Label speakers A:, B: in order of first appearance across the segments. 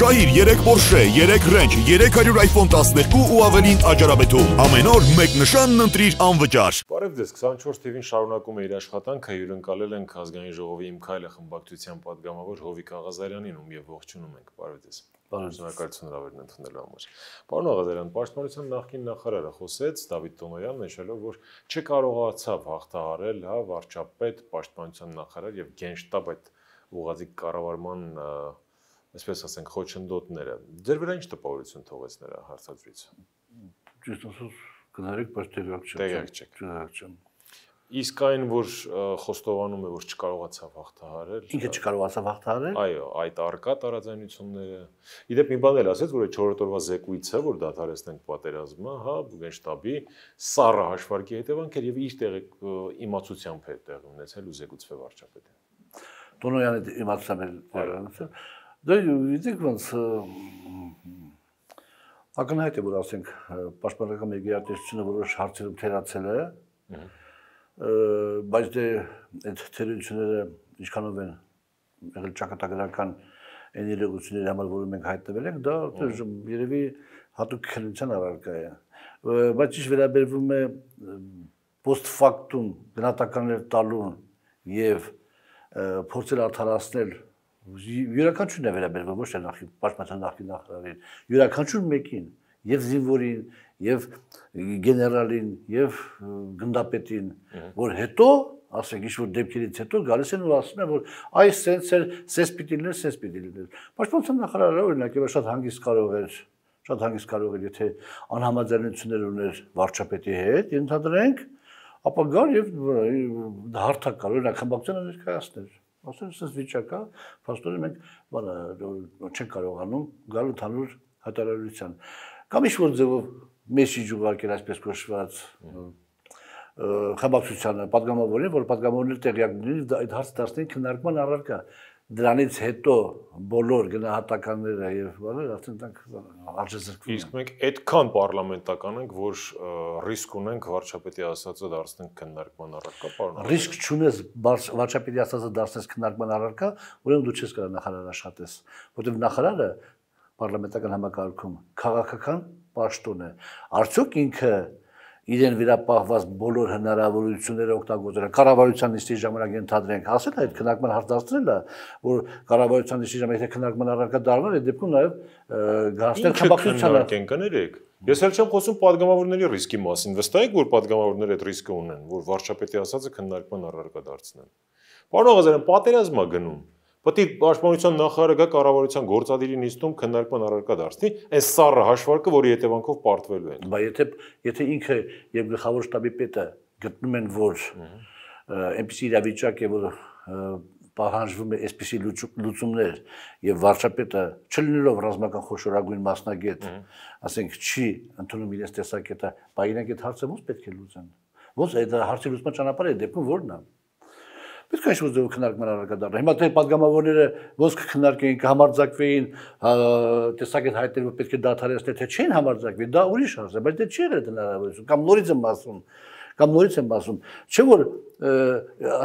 A: Շահիր 3 Porsche, 3 Range, 300 iPhone 12 ու ավելին աճարաբեթում։ Ամեն օր մեկ նշանն ընտրիր անվճար։
B: Բարև ձեզ, 24 TV-ն շարունակում է իր աշխատանքը, հյուրընկալել ենք Ազգային ժողովի Իմ քայլը խմբակցության պատգամավոր Հովիկ Աղազարյանին, ում եւ ողջունում ենք։ Բարև ձեզ։ Շնորհակալություն հրավերն ընդունելու համար։ Պարոն Աղազարյան, Պաշտպանության նախկին նախարարը խոսեց Դավիթ Տոնոյանն, նշելով, որ չկարողացավ հաղթահարել, վարչապետ, Պաշտպանության նախարար եւ գենշտաբ այդ ուղղաձիգ կառավարման այսպես ասենք խոչընդոտները։ Ձեր վրա ինչ տպավորություն թողեց նրա հարցազրույցը։
C: Ճիշտ ասած, գնարեք, բայց
B: տեղյակ չեք։ Իսկ այն, որ խոստովանում է, որ չկարողացավ հաղթահարել։
C: Ինքը չկարողացավ հաղթահարել։
B: Այո, այդ արկա տարաձայնությունները։ Իդեպ մի բան էլ ասեց, որ այդ 4-րդ օրվա զեկույցը, որ դադարեցնենք պատերազմը, գենշտաբի սառը հաշվարկի հետևանքեր եւ իր իմացությամբ է տեղի ունեցել ու զեկուցվել վարչապետին։
C: Տոնոյանը իմացավ էլ։ Դա գիտեք ոնց ակնհայտ է, որ ասենք պաշտպանական մեր գերատեսչությունը որոշ հարցերում թերացել է, բայց դե այդ թերությունները ինչքանով են եղել ճակատագրական այն իրողությունների համար, որը մենք հայտնվել ենք, դա երևի հատուկ քննության առարկա է, բայց ինչ վերաբերվում է post factum գնահատականներ տալուն եւ փորձել արդարացնել յուրաքանչյուրն է վերաբերվում ոչ թե պաշտպանության նախկին նախարարին, յուրաքանչյուր մեկին, եւ զինվորին, եւ գեներալին, եւ գնդապետին, որ հետո, ասենք ինչ-որ դեպքերից հետո գալիս են ու ասում են, որ այս սենց էր, սենց պիտի լիներ, սենց պիտի լիներ։ Պաշտպանության նախարարը օրինակ եւ շատ հանգիստ կարող էր, եթե անհամաձայնություններ ուներ վարչապետի հետ, ընդհանրենք, ապա գար եւ հարթակ կար, օրինակ խմբակցությունը ներկայացներ։ Ասել սենց վիճակա, փաստորեն մենք չենք կարողանում գալ ընդհանուր հայտարարության։ Կամ ինչ-որ ձևով մեսիջ ուղարկել այսպես կոչված խմբակցությանը, պատգամավորին, որ պատգամավորները տեղյակ լինեն այդ հարցը դարձնեն քննարկման առարկա։ Դրանից հետո բոլոր գնահատականները եւ արդեն դրանք արժեզրկվում են։
B: Իսկ մենք այդքան պարլամենտական ենք, որ ռիսկ ունենք վարչապետի ասածը դարձնենք քննարկման առարկա, պարոն։
C: Ռիսկ չունես վարչապետի ասածը դարձնես քննարկման առարկա, ուրեմն դու չես կարող նախարար աշխատես, որովհետեւ նախարարը պարլամենտական համակարգում քաղաքական պաշտոն է։ Արդյոք ինքը իրեն վերապահված բոլոր հնարավորությունները օգտագործել է կառավարության նիստի ժամանակ ընդհանրենք ասել այդ քննարկման հարց դարձնել է որ կառավարության նիստի ժամանակ եթե քննարկման առարկա դառնար այդ դեպքում նաև գահստեր խմբակցությանը
B: կներեք ես էլ չեմ խոսում падգամավորների ռիսկի մասին վստահ եք որ падգամավորները այդ ռիսկը ունեն որ վարչապետի ասածը քննարկման առարկա դարձնեն պարոն Աղազարյան պատերազմ է գնում Պետք է պաշտպանության նախարարը գա կառավարության գործադիրի նիստում քննարկման առարկա դարձնի, այս սառը հաշվարկը, որի հետևանքով պարտվելու են։
C: Բայց եթե ինքը եւ գլխավոր շտաբի պետը գտնում են, որ այնպիսի իրավիճակ է, որ պահանջվում է այսպիսի լուծումներ եւ վարչապետը չլինելով ռազմական խոշորագույն մասնագետ, ասենք չի ընդունում իրենց տեսակետը, բայց իրենք այդ հարցը ո՞նց պետք է լուծեն։ Ո՞նց այդ հարցի լուծման ճանապարհը դեպքում ո՞րն է։ Պետք է ինչ-որ ձևով քննարկման առարկա դառնա։ Հիմա թե падգամավորները ոնց կքննարկեին, կհամարձակվեին, տեսակետ հայտնել, որ պետք է դադարեցնել, թե չեն համարձակվի, դա ուրիշ հարց է, բայց դա չի եղել հնարավորություն, կամ նորից եմ ասում, չէ՞ որ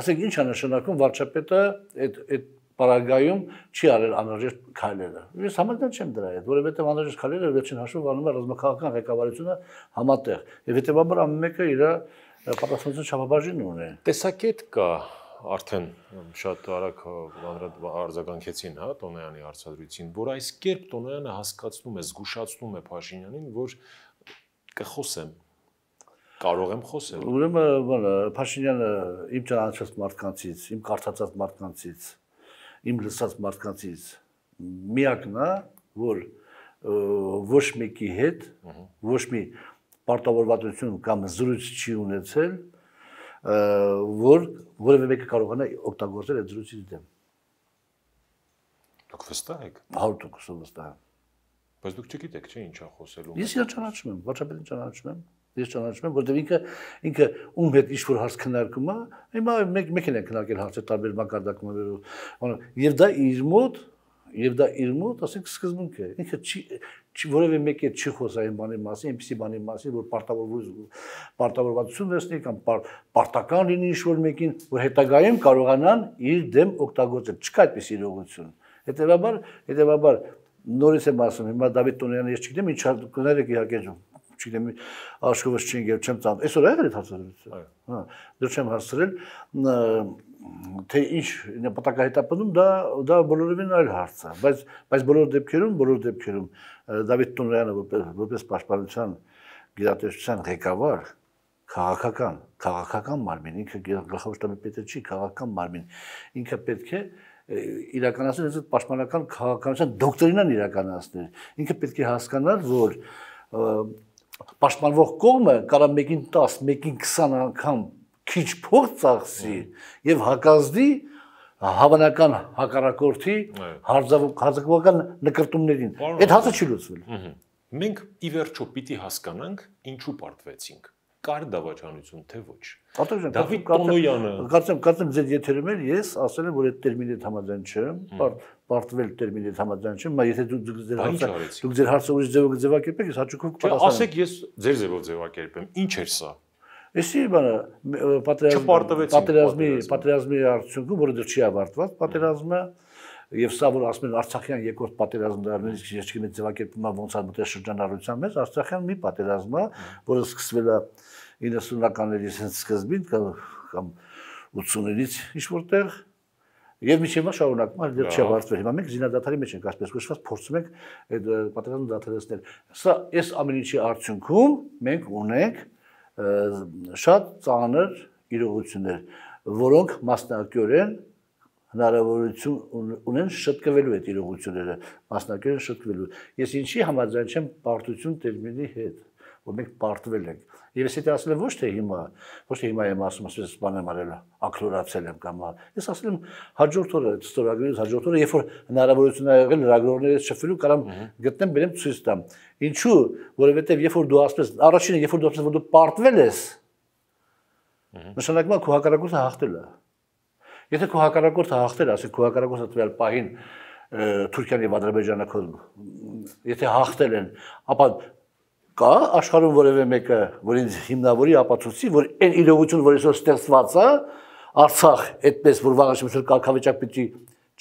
C: ասենք ինչ է նշանակում վարչապետը այդ պարագայում չի արել անհրաժեշտ քայլերը։ Ես համաձայն չեմ դրա հետ, որովհետև անհրաժեշտ քայլերը վերջին հաշվով անում է ռազմաքաղաքական ղեկավարությունը համատեղ, եւ հետեւաբար ամեն մեկը իր պատասխանատվության չափաբաժինն ունի։
B: Տեսակետ կա արդեն շատ արագ արձագանքեցին, Տոնոյանի հարցադրույցին, որ այս կերպ Տոնոյանը հասկացնում է, զգուշացնում է Փաշինյանին, որ կխոսեմ, կարող եմ խոսել։
C: Ուրեմն Փաշինյանը իմ ճանաչած մարդկանցից, իմ կարդացած մարդկանցից, իմ լսած մարդկանցից միակն է, որ ոչ մեկի հետ ոչ մի պարտավորվածություն կամ զրույց չի ունեցել որ որևէ մեկը կարողանա օգտագործել այդ զրույցի դեմ։
B: Դուք վստահ եք։
C: 100% վստահ եմ։
B: Բայց դուք չգիտեք, չէ՞ ինչ է խոսելու։
C: Ես իրեն ճանաչում եմ, վարչապետին ճանաչում եմ։ Ես ճանաչում եմ, որտեղ ինքը ում հետ ինչ-որ հարց քննարկում է, հիմա մեկ են քննարկել հարցը տարբեր մակարդակներով։ Եվ դա իր մոտ, ասենք սկզբունք է։ Ինքը որևէ մեկի հետ չի խոսա այն բանի մասին, այնպիսի բանի մասին, որ պարտավորվածություն վերցնի կամ պարտական լինի ինչ-որ մեկին, որ հետագայում կարողանան իր դեմ օգտագործել։ Չկա այդպիսի իրողություն։ Հետևաբար նորից եմ ասում, հիմա Դավիթ Տոնյանը ես չգիտեմ ինչ կներեք իհարկե չգիտեմ աշխովս չի եկել չեմ ծանոթ այսօր եղել է հարցադրություն հա դեռ չեմ հասցրել թե ինչ նպատակահետապնդում դա բոլորովին այլ հարց է բայց բոլոր դեպքերում Դավիթ Տոնյանը որպես պաշտպանության գերատեսչության ղեկավար քաղաքական մարմին ինքը գլխավոր շտաբի պետը չի քաղաքական մարմին ինքը պետք է իրականացնել այս պաշտպանական քաղաքականության դոկտրինան իրականացնել ինքը պետք է հասկանալ որ պաշտպանվող կողմը կարող մեկին 10 մեկին 20 անգամ քիչ փող ծախսի եւ հակազդի հավանական հակառակորդի հարձակողական նկարտումներին այդ հացը չի լուծվել
B: մենք ի վերջո պիտի հասկանանք ինչու պարտվեցինք կար դավաճանություն թե ոչ Դավիթ Տոնոյանը
C: կարծեմ ձեր եթերում էլ ես ասել եմ որ այդ տերմինի հետ համաձայն չեմ պարտվել տերմինի հետ համաձայն չեմ բայց եթե դուք ձեր հարցը ուրիշ ձևով ձևակերպեք ես հաճույքով կպատասխանեմ
B: ասեք ես ձեր ձևով ձևակերպեմ ինչ էր սա
C: Էսի բանը պատերազմի արդյունքում որը դեռ չի ավարտված պատերազմը եւ սա որ ասում են Արցախյան երկրորդ պատերազմը դառնալիս ես չգիտեմ ձևակերպումը ոնց է մտել շրջանառության մեջ Արցախյան մի պատերազմ է որը սկսվել է 90-ականների սկզբին կամ 80-ից ինչ որտեղ եւ միջև շարունակում է դեռ չի ավարտվել հիմա մենք զինադատարի մեջ ենք այսպես կոչված փորձում ենք այդ պատերազմը դադարեցնել սա այս ամեն ինչի արդյունքում մենք ունենք շատ ծանր իրողություններ որոնք մասնակցորեն հնարավորություն ունեն շտկվելու այդ իրողությունները մասնակցորեն շտկվելու ես ինչի համաձայն չեմ պարտություն տերմինի հետ որ մենք պարտվել ենք եւ ես դա ասել եմ ոչ թե հիմա եմ ասում ասես բան եմ արել ակլորացել եմ կամ ես ասել եմ հաջորդ օրը ստորագրելուց հաջորդ օրը երբ որ հնարավորություն ա եղել լրագրողներից շփվելու կարամ գտնեմ բերեմ ցույց տամ ինչու որովհետեւ երբ որ դու ասես առաջինը երբ որ դու ասես որ դու պարտվել ես նշանակում է քո հակառակորդը հաղթել է Եթե քո հակառակորդը հաղթել, ասեք քո հակառակորդը տվյալ պահին Թուրքիան եւ Ադրբեջանը եթե հաղթել են, ապա կա աշխարհում որևէ մեկը, որ ինձ հիմնավորի ապացուցի, որ այն իրողությունը, որ այսօր ստեղծված է, Արցախ, այդպես որ վաղաշեմություն կարգավիճակ պիտի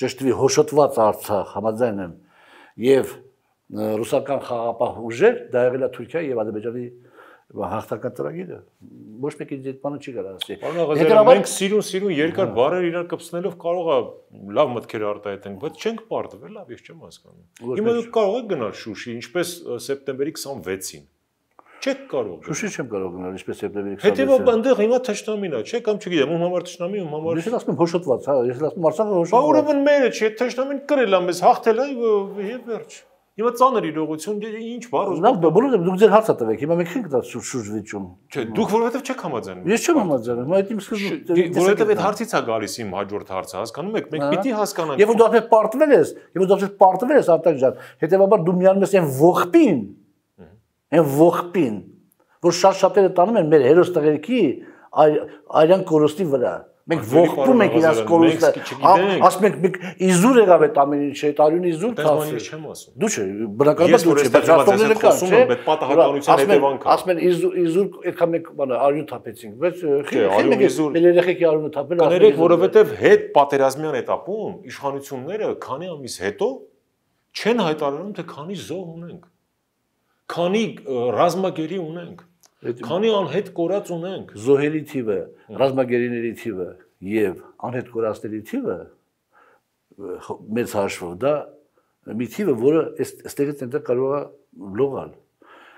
C: ճշտվի հոշոտված Արցախ, համաձայն եմ, եւ ռուսական խաղապահ ուժեր, դա եղել է Թուրքիա եւ Ադրբեջանի հաղթական ծրագիրը ոչ մեկի այդ բանը չի կարող ասի։
B: Մենք սիրուն երկար բառեր իրար կպցնելով կարող է լավ մտքեր արտահայտենք, բայց չենք պարտվել, լավ ես չեմ հասկանում։ Հիմա դուք կարող եք գնալ Շուշի, ինչպես սեպտեմբերի 26-ին։ Չեք կարող։
C: Շուշի չեմ կարող գնալ, ինչպես սեպտեմբերի 26-ին։
B: Հետևաբար այնտեղ հիմա թշնամին է, չէ՞ կամ չգիտեմ, ում համար թշնամի, ում համար։
C: Ես ասում եմ հոշոտված, հա, ես ասում Արցախը հոշոտված։
B: Բա ուրեմն մերը չէ, թշնամին կրել է մեզ, հաղթել է եւ վերջ։ Հիմա ծանր իրողություն, ինչ բառ ուզում։
C: Լավ, բոլորը դուք ձեր հարցը տվեք։ Հիմա մենք չենք դա շուրջ վիճում։
B: Չէ, դուք որովհետև չեք համաձայնում։
C: Ես չեմ համաձայնում, այդ իմ սկզբում։
B: Որովհետև այդ հարցից է գալիս իմ հաջորդ հարցը, հասկանում եք, մենք պիտի հասկանանք։
C: Եվ դու արդեն պարտվել ես, Արտակ ջան, հետեւաբար դու միանում ես այն ողբին, որ շատ-շատերը տանում են մեր հերոս տղերքի արյան կորստի վրա։ Մենք ողբում ենք իրաց կորուստը։ Ասում ենք իզուր եղավ այդ ամեն ինչը, այդ արյունի իզուր թափվի։
B: Չեմ ասում։
C: Դու չէ, բնականաբար դու չէ, բայց հաստատները կան, չէ։
B: Բայց պատահականության հետևանքը։
C: Ասում են իզուր այդքան մենք բանը արյուն թափեցինք, բայց մեր երեխեքի արյունը թափել։
B: Կներեք, որովհետև հետ պատերազմյան этаպում իշխանությունները քանի ամիս հետո չեն հայտարարում, թե քանի զոհ ունենք, քանի ռազմագերի ունենք։ Քանի անհետ կորած ունենք
C: զոհերի թիվը, ռազմագերիների թիվը եւ անհետ կորածների թիվը մեծ հաշվով դա մի թիվը, որը այստեղից այնտեղ կարող է լողալ։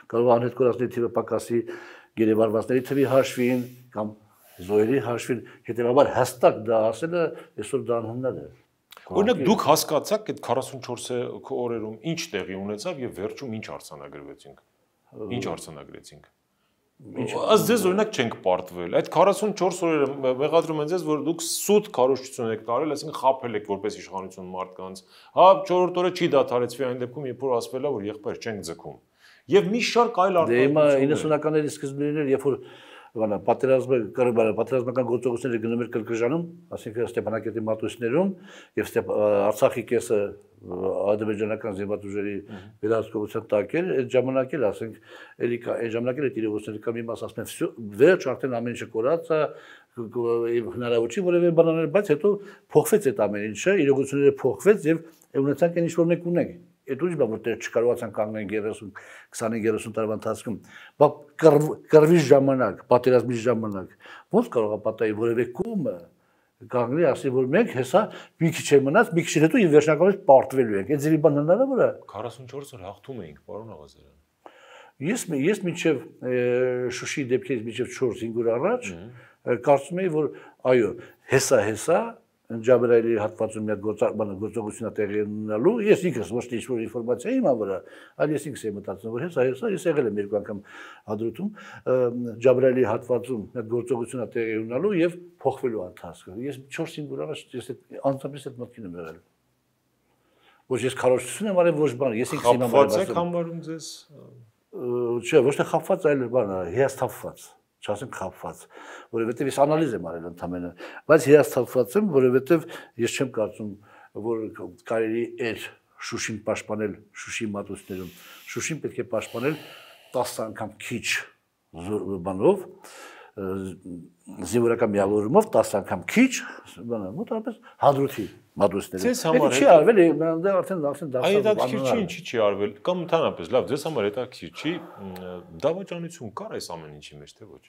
C: Կարող է անհետ կորածների թիվը պակասի գերեվարվածների թվի հաշվին կամ զոհերի հաշվին, հետեւաբար հստակ դա ասելը այսօր դա անհնար է։
B: Օրինակ դուք հասկացաք այդ 44 օրերում ինչ տեղի ունեցավ եւ վերջում ինչ արձանագրվեցինք։ Ինչ արձանագրեցինք։ Ըստ ձեզ օրինակ չենք պարտվել։ Այդ 44 օրերը մեղադրում են ձեզ, որ դուք սուտ քարոզչություն եք տարել, այսինքն խաբել եք որպես իշխանություն մարդկանց։ Հա, 4-րդ օրը չի դադարեցվի այն դեպքում, երբ որ ասվել է, որ եղբայր չենք ձգում։ Եվ մի շարք այլ
C: արտահայտություններ։ Դե հիմա 90-ականների սկզբին էր, երբ որ պատերազմական գործողությունները գնում էր Կրկժանում, ասինքն Ստեփանակերտի մատույցներում եւ Արցախի կեսը ադրբեջանական զինված ուժերի վերահսկողության տակ էր, այդ ժամանակ էլ ասենք էլի այդ ժամանակ էլ այդ իրողությունները կամ մի մաս ասում են վերջ արդեն ամեն ինչը կորած է հնարավոր չի որևէ բան անել, բայց հետո փոխվեց այդ ամեն ինչը, իրողությունները փոխվեց եւ ունեցանք այն ինչ որ մենք ունենք։ այդ ուժ բա որտեղ չկարողացան կանգնել 25-30 տարվա ընթացքում, բա կռվի ժամանակ, պատերազմի ժամանակ, ո՞նց կարող է պատահի որևէ կողմը կանգնի ասի որ մենք հեսա մի քիչ է մնաց, մի քիչ հետո եւ վերջնականորեն պարտվելու ենք։ Այդ ձևի բան հնարավոր է։
B: 44 օր հաղթում էինք, պարոն Աղազարյան։
C: Ես մինչև Շուշի դեպքից մինչև 4-5 օր առաջ կարծում եի որ այո, հեսա Ջաբրայելի հատվածում մի գործողություն է տեղի ունենալու, ես ինքս ոչ թե ինչ-որ ինֆորմացիա իմ վրա, այլ ես ինքս եմ մտածում, որ հեսա, ես եղել եմ երկու անգամ հադրութում, Ջաբրայելի հատվածում մի գործողություն է տեղի ունենալու եւ փոխվելու ընթացքը։ Ես 4-5 օր առաջ ես անձամբ այդ մտքին եմ եղել։ Ոչ ես քարոզություն եմ արել, ոչ բան, ես ինքս իմ
B: խաբված եք համարում ձեզ։
C: Չէ, ոչ թե խաբված, այլ բան, հիասթափված։ Չասեմ խաբված, որովհետև ես անալիզ եմ արել ընդամենը, բայց հիասթափված եմ, որովհետև ես չեմ կարծում, որ կարելի էր Շուշին պաշտպանել Շուշի մատուցներում, Շուշին պետք է պաշտպանել 10 անգամ քիչ բանով, զինվորական միավորումով 10 անգամ քիչ, մոտավորապես հադրութի մատուցներում։
B: Ձեզ համար
C: չի արվել, դա արդեն
B: այդ հետաքրքիր չի, ինչի չի արվել, կամ ընդհանրապես լավ, ձեզ համար հետաքրքիր չի, դավաճանություն կար այս ամեն ինչի մեջ, թե ոչ։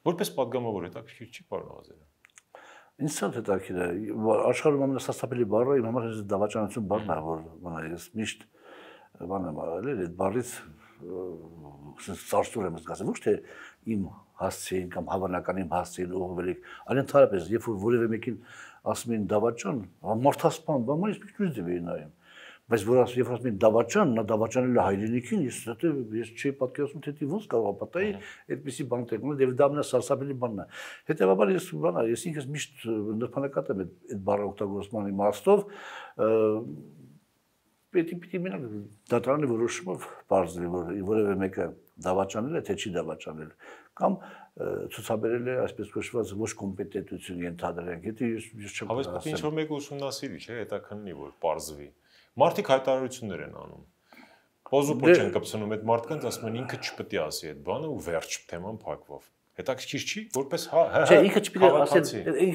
B: Որպես պատգամավոր հետաքրքիր չի, պարոն Աղազարյան։
C: Ինձ շատ հետաքրքիր է, աշխարհում ամենասարսափելի բառը իմ համար դավաճանություն բառն է, որ ես միշտ բան եմ արել, այդ բառից ծարսուր եմ զգացել, ոչ թե իմ հասցեին կամ հավանական իմ հասցեին ուղղվել եք, այլ ընդհանրապես, երբ որ որևէ մեկին ասում են դավաճան, մարդասպան, բան ես միշտ ձև էի նայում։ Բայց որ երբ ասում են դավաճան, նա դավաճանել է հայրենիքին, ես չի պատկերացնում թե ոնց կարող է պատահի այդպիսի բան տեղնել, եւ դա ամենասարսափելի բանն է։ Հետեւաբար ես ինքս միշտ նրբանակատ եմ այդ բառը օգտագործման իմաստով, պետք է մենակ դատարանի որոշումով բարձրի, որ որևէ մեկը դավաճանել է, թե չի դավաճանել, կամ ցուցաբերել է այսպես կոչված ոչ կոմպետենտություն ենթադրենք, եթե ես չեմ
B: ասել։ Հավես ինչ որ մեկը ուսումնասիրի, չէ, հետաքննի, որ բարձվի։ Մարդիկ հայտարարություններ են անում։ Պոզուպոչ են կպցնում այդ մարդկանց, ասում են ինքը չպետք է ասի այդ բանը ու վերջ թեման փակվով։ Հետաքրքիր չի, որպես
C: Չէ, ինքը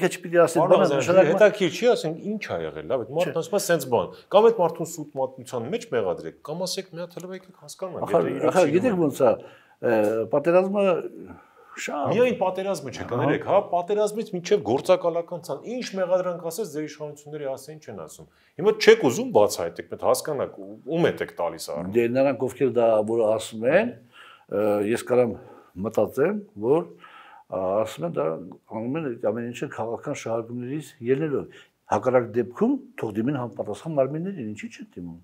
C: չպիտի ասել բանը, նշանակում
B: հետաքրքիր չի, ասենք ինչ ա եղել, լավ, այդ մարդն ասում է սենց բան։ Կամ այդ մարդուն սուտ մատնության մեջ մեղադրեք, կամ ասեք մի հատ հլվեք հասկանում եք,
C: Ախր գիտեք ոնց է, պատերազմը շատ
B: միայն պատերազմը չէ, կներեք, հա, պատերազմից մինչև գործակալական ցան, ինչ մեղադրանք ասես ձեր իշխանությունների ասեն չեն ասում։ Հիմա չեք ուզում բացահայտեք, պետք հասկանաք ում եք տալիս առ։
C: Դե նրանք ովքեր դա որ ասում են, ես կարամ մտածեմ, որ ասում են դա անում են ամեն ինչը քաղաքական շահարկումներից ելնելով։ Հակառակ դեպքում թող դիմեն համապատասխան մարմիններին, ինչի՞ չեն դիմում։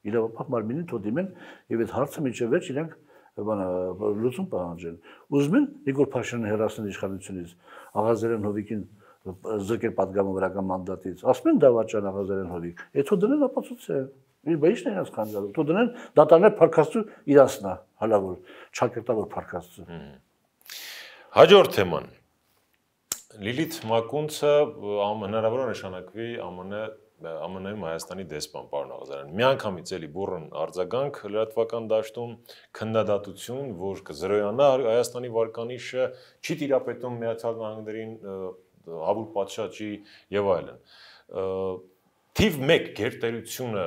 C: Իրավապահ մարմինին թող դիմեն եւ այդ հարցը մինչև վերջ իրենք լուծում պահանջեն։ Ուզում են Նիկոլ Փաշինյանը հեռացնել իշխանությունից, Աղազարյան Հովիկին զրկել պատգամավորական մանդատից։ Ասում են դավաճան Աղազարյան Հովիկ։ Էթո դնեն ապացուցե։ Ինչ է իրաց քանջալու։ Թող դնեն դատարաններ փարկաստու իրանցնա, հալավոր, չակերտավոր փարկաստու։
B: Հաջորդ թեման։ Լիլիթ Մակունցը հնարավոր է նշանակվի ԱՄՆ-ում Հայաստանի դեսպան, պարոն Աղազարյան։ Միանգամից էլի բուռն արձագանք լրատվական դաշտում, քննադատություն, որ կզրոյանա Հայաստանի վարկանիշը, չի տիրապետում Միացյալ Նահանգներին, հավուր պատշաճի եւ այլն։ Թիվ 1 գերտերությունը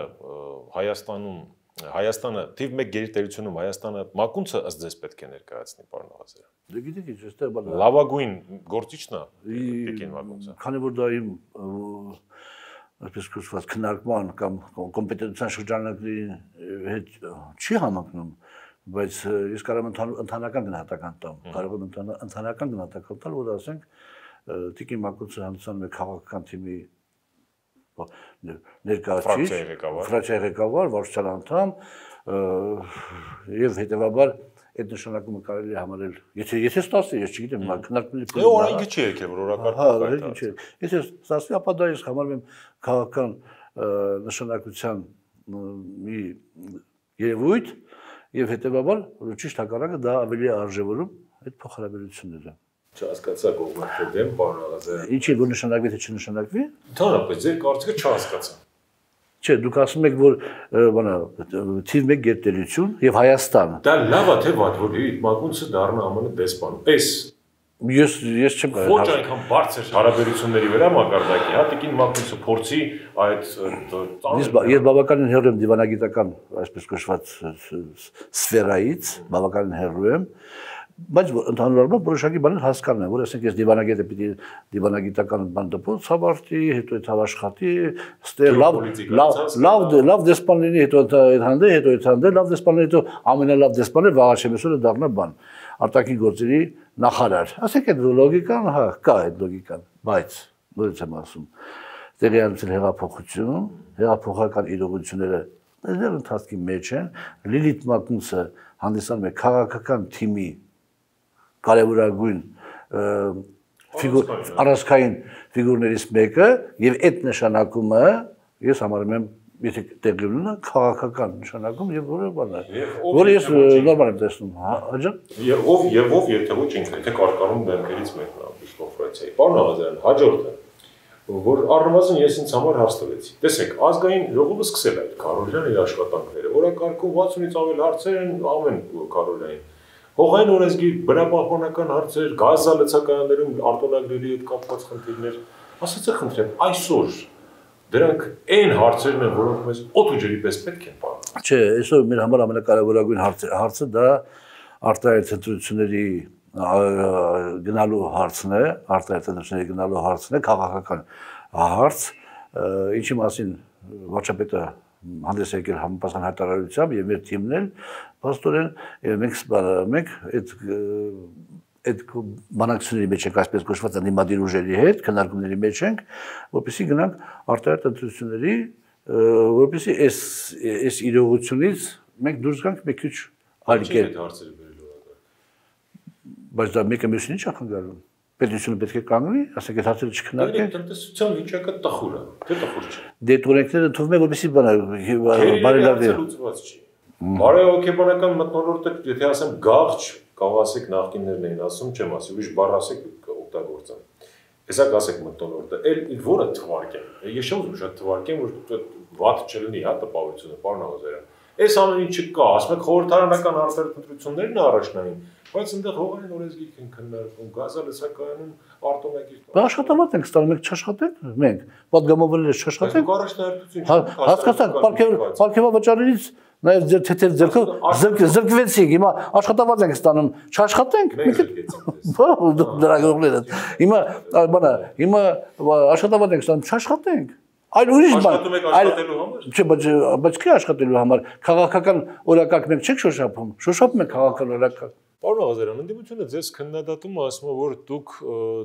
B: Հայաստանը թիվ 1 գերտերությունում Հայաստանը Մակունցը ըստ ձեզ պետք է ներկայացնի, պարոն Աղազարյան։
C: Դե գիտեք ինչ, այստեղ բանը
B: լավագույն գործիչն է Տիկին Մակունցը։
C: Քանի որ դա իմ այսպես կոչված քննարկման կամ կոմպետենտության շրջանակների հետ չի համընկնում, բայց ես կարող եմ ընդհանրական գնահատական տամ, կարող եմ ընդհանրական գնահատական տալ, որ ասենք Տիկին Մակունցը հանդիսանում է քաղաքական թիմի ներկայացուցիչ, ֆրակցիայի ղեկավար, վարչության անդամ եւ հետեւաբար այդ նշանակումը կարելի է համարել, եթե ստացվի, ես չգիտեմ, քննարկումների
B: օրենքը չի եկել, որ օրակարգ
C: չի։ Եթե ստացվի, ապա դա ես համարում եմ քաղաքական նշանակության մի երևույթ եւ հետեւաբար ճիշտ հակառակը դա ավելի արժևորում այդ փոխհարաբերությունները։
B: Չհասկացա կողմնակի դեմ, պարոն Աղազարյան։
C: Ինչի որ նշանակվի թե չնշանակվի։
B: Ընդհանրապես ձեր կարծիքը չհասկացա։
C: Չէ, դուք ասում եք, որ բանա թիվ 1 գերտերություն եւ Հայաստան։
B: Դա լավ է թե վատ, որ Լիլիթ Մակունցը դառնա ԱՄՆ դեսպան։ Պես
C: Ես չեմ կարող։
B: Ոչ այնքան բարձր հարաբերությունների վրա մակարդակի, հա տիկին Մակնուսը փորձի այդ
C: Ես բավականին հեռու եմ դիվանագիտական, այսպես կոչված սֆերայից, բավականին հեռու եմ, բայց ընդհանուր առմամբ որոշակի բաներ հասկանում եմ, որ ասենք ես դիվանագետը պիտի դիվանագիտական բան դպոց հավարտի, հետո այդ հավաշխատի, ստեղ լավ դեսպան լինի, հետո այդ հանդե, լավ դեսպան լինի, հետո ամենալավ դեսպանը Վաղաշեմեսյանը դառնա բան, արտաքին գործերի նախարար։ Ասենք այդ լոգիկան, հա, կա այդ լոգիկան, բայց նորից եմ ասում, տեղի անցել հեղափոխություն, հեղափոխական իրողությունները դեռ ընթացքի մեջ են, Լիլիթ Մակնուսը հանդիսանում է քաղաքական թիմի կարևորագույն առանցքային ֆիգուրներից մեկը եւ այդ նշանակումը ես համարում եմ եթե տեղի ունենա քաղաքական նշանակում եւ որը բան է որը ես նորմալ եմ տեսնում հաջա
B: եւ ով եթե ոչ ինքը թե կարկանում դեմքերից մեկն է Բիշկոֆրացիայի պարոն Աղազարյան հաջորդը որ առնվազն ես ինձ համար հարց տվեցի տեսեք ազգային ժողովը սկսել է այդ Կարոլյան իր աշխատանքները օրակարգում 60-ից ավել հարցեր են ամեն Կարոլյանին հողային օրենսգիր բնապահպանական հարցեր գազալցակայաններում արտոնագրերի հետ կապված խնդիրներ ասացեք խնդրեմ այսօր դրանք այն հարցերն են, որոնք մեզ օդ ու ջրի պես պետք են պահում։
C: Չէ, այսօր մեր համար ամենակարևորագույն հարցը դա արտահայտ ընտրությունների գնալու հարցն է, արտահայտ ընտրությունների գնալու հարցն է, քաղաքական հարց, ինչի մասին վարչապետը հանդես եկել համապատասխան հայտարարությամբ եւ մեր թիմն էլ փաստորեն մենք այդ բանակցությունների մեջ ենք այսպես կոչված անդիմադիր ուժերի հետ քննարկումների մեջ ենք որպեսզի գնանք արտահայտ ընտրությունների որպեսզի այս իրողությունից մենք դուրս գանք մի քիչ այլ կերպ բայց դա մեկը մյուսին չի խանգարում պետությունը պետք է կանգնի ասենք այդ հարցերը չքննարկենք
B: տնտեսության վիճակը տխուր է թե տխուր չէ
C: դե օրենքները թվում է որպեսզի բարելավի
B: բարեհոգեբանական մթնոլորտը եթե ասեմ գաղջ կարող ասեք նախկիններն էին ասում, չեմ ասի, ուրիշ բառ ասեք օգտագործեմ։ Հեսա ասեք մթնոլորտը, էլ որը թվարկեմ։ Ես չեմ ուզում շատ թվարկեմ, որ վատ չլինի, հա, տպավորությունը, պարոն Աղազարյան։ Այս ամեն ինչը կա, ասում եք խորհրդարանական արտահայտ ընտրություններն առաջնային, բայց այնտեղ հողային օրենսգիրք են քննարկվում, գազալցակայանում արտոնագիր։
C: Աշխատավարձ ենք ստանում, մենք չաշխատենք, մենք պատգամավորները չաշխատենք։ Հասկացանք, պարգևավճարներից Նաև ձեր թեթև ձերքով զրկվեցիք, հիմա աշխատավարձ ենք ստանում, չաշխատենք։ Դրագողները։ Հիմա աշխատավարձ ենք ստանում, չաշխատենք։ Այլ ուրիշ բան։
B: Աշխատում եք աշխատելու համար։
C: Չէ, բայց չի աշխատելու համար։ Քաղաքական օրակարգ մենք չենք շոշափում։ Շոշափում ենք քաղաքական օրակարգ։
B: Պարոն Աղազարյան, ընդդիմությունը ձեզ քննադատում է, ասում է, որ դուք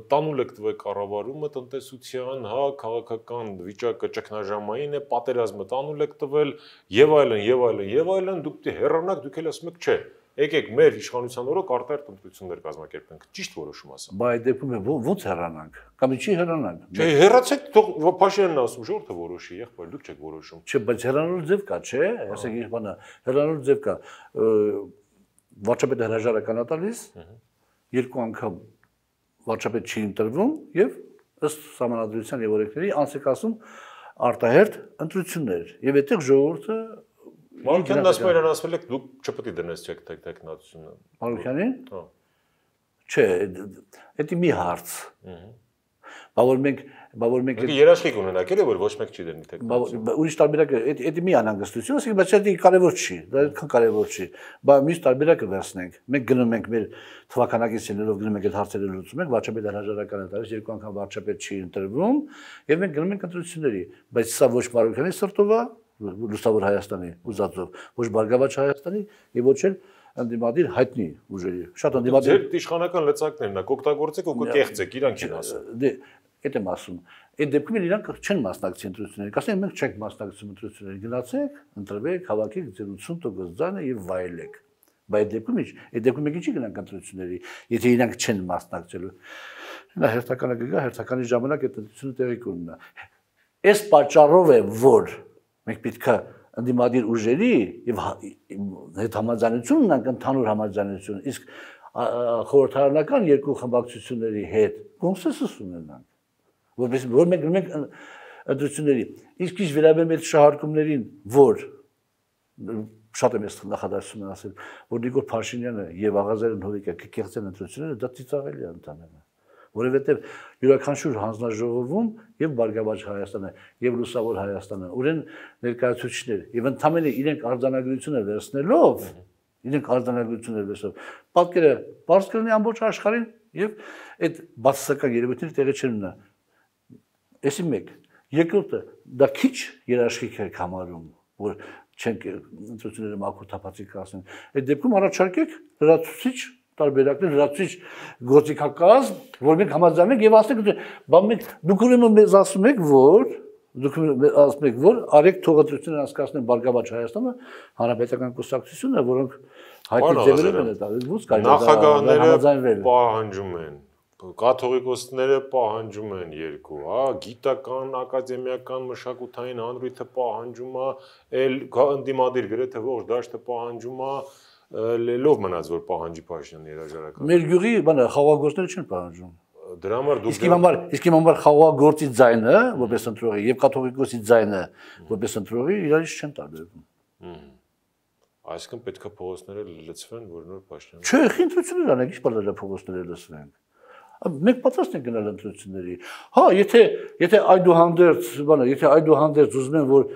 B: տանուլ եք տվել կառավարումը տնտեսության, հա, քաղաքական վիճակը ճգնաժամային է, պատերազմը տանուլ եք տվել, եւ այլն, դուք դե հեռանաք, դուք էլ ասում եք, չէ, եկեք մեր իշխանության օրոք արտահայտ ընտրություններ կազմակերպենք։ Ճիշտ որոշում ասա։
C: Բայց դեպքում է ո՞նց հեռանանք։ Կամ ինչի հեռանանք։
B: Չէ, հեռացեք, թող Փաշինյանն ասում, ժողովուրդը որոշի, եղբայր, դուք չեք որոշում։
C: Չէ, բայց հեռանալու ձև կա, չէ, ասեք ինչ բանա, հեռանալու ձև կա։ Վարչապետը հրաժարական է տալիս, երկու անգամ վարչապետ չի ընտրվում եւ ըստ համանadrության եւ օրենքների անցեք ասում արտահերթ ընտրություններ եւ այդտեղ ժողովուրդը
B: Մանուկյանն ասում է ասվել եք դուք չպետք է դնես չեք տեխնատությունը
C: Մանուկյանին չէ դա մի հարց Բավոր մենք
B: երաշխիք ունենաք էլի որ ոչ մեկ չի դնի տեխնատություն
C: ուրիշ տարբերակը դա մի անհանգստություն ասենք բայց դա կարևոր չի դա այդքան կարևոր չի բայց մյուս տարբերակը վերցնենք մենք գնում ենք մեր թվականակիցներով գնում ենք այդ հարցերը լուծում ենք վարչապետը հրաժարական է տալիս երկու անգամ վարչապետ չի ընտրվում եւ մենք գնում ենք ընտրությունների բայց սա ոչ Մանուկյանի սրտով է լուսավոր Հայաստանի ուզածով ոչ Բարգավաճ Հայաստանի եւ ոչ էլ անդիմադիր հայտնի ուժերի շատ անդիմադիր
B: ձեր իշխանական լծակներն եք օգտագործեք ու կեղծեք իրանք են ասում
C: դե այդ եմ ասում այդ դեպքում իրանք չեն մասնակցի ընտրությունների կասեն մենք չենք մասնակցում ընտրությունների գնացեք ընտրվեք հավաքեք ձեր 80% ձայնը եւ վայելեք բայց դեպքում ինչ այդ դեպքում մենք ինչի գնանք ընտրությունների եթե իրանք չեն մասնակցելու նա հերթականը կգա հերթականի ժամանակ այդ ընտրությունը տեղի կունենա այս պատճառով է որ մենք պետքա անդիմադիր ուժերի եւ հետ համաձայնություն ունենք ընդհանուր համաձայնություն իսկ խորհրդարանական երկու խմբակցությունների հետ կոնսենսուս ունենանք որ մենք ընտրությունների իսկ ինչ վերաբերում է շահարկումներին որ շատ եմ ես նախադասություն ասել, որ Նիկոլ Փաշինյանը եւ Աղազարյան Հովիկը կեղծեն ընտրությունները, դա ծիծաղելի է ընդհանրապես։ Որովհետեւ յուրաքանչյուր հանձնաժողովում եւ Բարգավաճ Հայաստանը եւ Լուսավոր Հայաստանը ուրեն ներկայացուցիչներ եւ ընդհանրապես իրենք արձանագրությունը վերցնելով, պատկերը բարձ կլինի ամբողջ աշխարհին եւ այդ բացասական երևույթները տեղի չունենա։ Էսի մեկ, երկրորդը դա քիչ երաշխիք է համարում, որ չենք ընտրությունները մաքուր թափածիկ ասեն։ Այդ դեպքում առաջարկեք լրացուցիչ տարբերակներ, լրացուցիչ գործիքակազմ, որ մենք համաձայնենք եւ ասենք, բան մենք դուք ուրեմն մեզ ասում եք, որ արեք թողադրություններ անցկացնեն Բարգավաճ Հայաստանը, հանրապետական կուսակցությունը, որոնք հայտնի ձևերով են դա, ո՞ց կարելի է
B: նախագահները պահանջում են, կաթողիկոսները պահանջում են երկու, հա, գիտական, ակադեմիական, մշակութային հանրույթը պահանջում է, էլ ընդդիմադիր գրեթե ողջ դաշտը պահանջում է, լելով մնաց որ պահանջի Փաշինյանի երաժարական։
C: Մեր գյուղի բանը խաղաղագործները չեն պահանջում։
B: Դրա համար դուք
C: իսկ իմ համար խաղաղագործի ձայնը, որպես ընտրողի, եւ կաթողիկոսի ձայնը, որպես ընտրողի, իրարից չեն տարբերվում։
B: Այսինքն պետք է փողոցները լցվեն, որ նոր Փաշինյանը։
C: Չէ, ընտրություններ անենք, ի՞նչ բան է փողոցները լցվենք։ Մենք պատրաստ ենք գնալ ընտրությունների։ Հա, եթե այդուհանդերձ, բանը, եթե այդուհանդերձ ուզում են, որ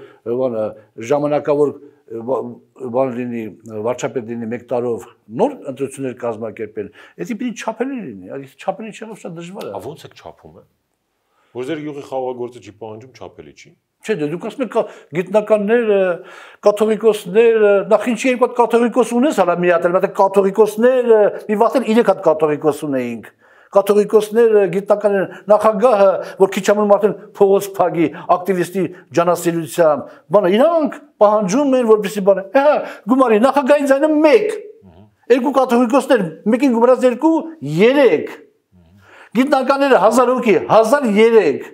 C: բանը ժամանակավոր բան լինի, վարչապետ լինի 1 տարով նոր ընտրություններ կազմակերպել, դա պիտի չափելի լինի, այդ չափելի չեղով շատ դժվար է։
B: Ո՞նց եք չափում է։ Որ ձեր յուղի խաղաղագործը չի պահանջում չափելի չի։
C: Չէ, դուք ասում եք գիտնականները, կաթողիկոսները, նախ ինչի երկու հատ կաթողիկոս ունես, հələ մի հատ էլ, մտա կաթողիկոսները, մի վաղ 3 հատ կաթողիկոս ունեինք։ Կաթողիկոսները, գիտնականները, նախագահը, որ քիչ ամեն մարդն փողոց փագի, ակտիվիստի ջանասիրությամբ, բանը իրանք պահանջում են, որպեսզի բանը, հա, գումարի նախագահի ձայնը 1, երկու կաթողիկոսներ, մեկին գումարած 2, 3, գիտնականները 1000 հոգի, 1003,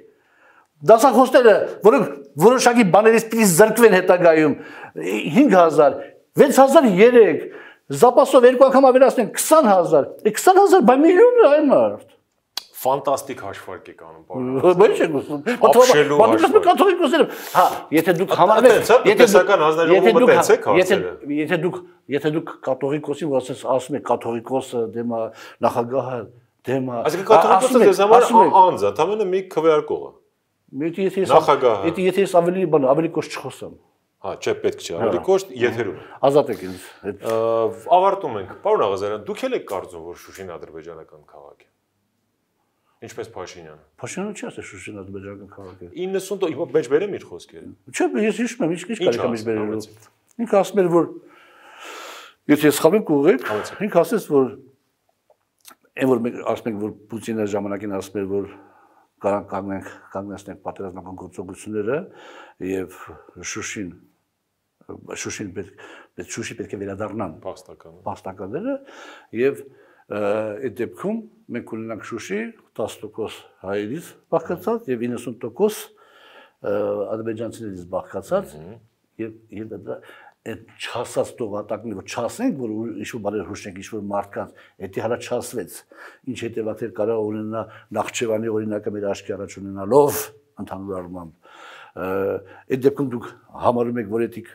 C: դասախոսները, որոնք որոշակի բաներից պիտի զրկվեն հետագայում, 5000, 6003, Զապասով 2 անգամ ավելացնենք 20000, 20000 բայ միլիոն է այն մարդ։
B: Ֆանտաստիկ հաշվարկ եք անում,
C: պարոն։ Ոչ եք ուզում։ Պատմում կաթողիկոսները։ Հա, եթե դուք համարվեք,
B: տեսական հանձնաժողովը տեսեք հարցերը։
C: Եթե դուք կաթողիկոսին որ ասում եք կաթողիկոսը դեմա նախագահը դեմա։
B: Այսինքն կաթողիկոսը դες համար անձ է, ամենը մի քվեարկող է։ Նախագահը։
C: Եթե ես ավելի կոշտ չխոսամ։
B: Հա, չէ, պետք չէ, ավելի կոշտ եթերում։
C: Ազատ եք ինձ։
B: Ավարտում ենք։ Պարոն Աղազարյան, դուք եք կարծում, որ Շուշին ադրբեջանական քաղաք է։ Ինչպես Փաշինյանը։
C: Փաշինյանը չի ասել Շուշին ադրբեջանական քաղաք է։
B: 90 հիմա մեջ բերեմ իր խոսքերը։
C: Չէ, ես հիշում եմ, ինչ կարելի է մեջ բերելու։ Ինքը ասում էր, որ եթե ես խաղեմ կուղեք, ինքը ասեց, որ այն որ մենք ասում ենք, որ Պուտինը ժամանակին ասում էր, որ կանգնեցնենք պատերազմական գործողությունները եւ Շուշին պետք է վերադառնան փախստականները եւ այդ դեպքում մենք ունենանք Շուշի 10% հայերից բաղկացած եւ 90% ադրբեջանցիներից բաղկացած եւ դա այդ չասած տողատակները որ չասենք որ ինչ-որ բաներ հուշենք ինչ-որ մարդկանց դա հələ չասվեց ինչ հետևանքներ կարող ունենա Նախճեվանի օրինակը մեր աչքի առաջ ունենալով ընդհանուր առմամբ այդ դեպքում դուք համարում եք որ էթիկ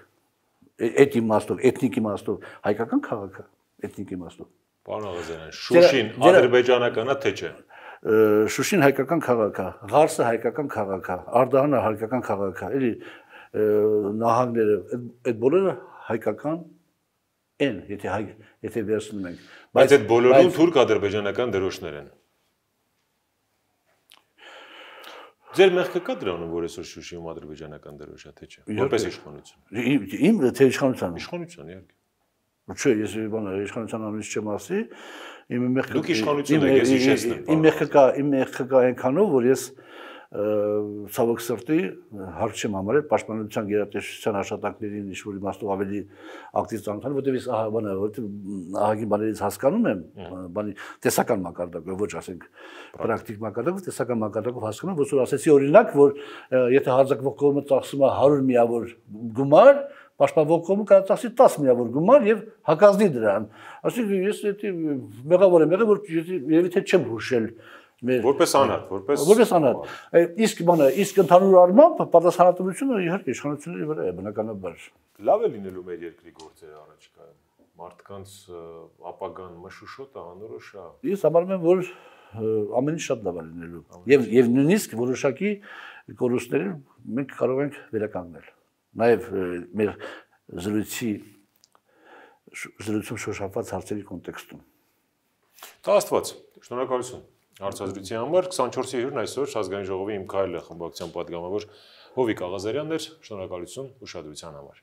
C: իմաստով էթնիկ իմաստով հայկական քաղաք է էթնիկ իմաստով
B: Պարոն Աղազարյան Շուշին ադրբեջանական է թե չէ
C: Շուշին հայկական քաղաք է Ղարսը հայկական քաղաք է Արդահանը հայկական քաղաք է էլի նահանգները այդ բոլորը հայկական են եթե վերցնում ենք
B: բայց այդ բոլորում թուրք-ադրբեջանական դրոշներ են Ձեր մեղքը կա դրանում որ այսօր Շուշիում ադրբեջանական դրոշ է թե չէ որպես իշխանություն
C: Իմ թե իշխանության
B: իհարկե
C: Չէ ես իշխանության անունից չեմ ասի իմ մեղքը
B: Դուք իշխանություն եք ես իշխեցնեմ
C: իմ մեղքը կա այնքանով որ ես ցավոք սրտի հարկ չեմ համարել պաշտպանության գերատեսչության աշխատանքներին ինչ-որ իմաստով ավելի ակտիվ ծանոթան, որտեղ ես ահագին բաներից հասկանում եմ, բանի տեսական մակարդակով, ոչ ասենք պրակտիկ մակարդակով, տեսական մակարդակով հասկանում, որ ասեցի օրինակ, որ եթե հարձակվող կողմը ծախսում է 100 միավոր գումար, պաշտպանվող կողմը կարող է ծախսի 10 միավոր գումար եւ հակազդի դրան։ Այսինքն ես դա մեղավոր եմ եղել, որ երևի թե չեմ հուշել
B: Որպես անհատ,
C: որպես անհատ։ Իսկ բանը, իսկ ընդհանուր առմամբ պատասխանատվությունը իհարկե իշխանությունների վրա է, բնականաբար։
B: Լավ է լինելու մեր երկրի գործերը առաջիկայում։ Մարդկանց ապագան մշուշոտ է, անորոշ է։
C: Ես համարում եմ, որ ամեն ինչ շատ լավ է լինելու։ Եվ նույնիսկ որոշակի կորուստները մենք կարող ենք վերականգնել։ Նաև մեր զրույցում շոշափված հարցերի կոնտեքստում։
B: Տա Աստված, շնորհակալություն հարցազրույցի համար։ 24-ի հյուրն այսօր ազգային ժողովի իմ քայլը խմբակցության պատգամավոր Հովիկ Աղազարյանն էր։ Շնորհակալություն ուշադրության համար։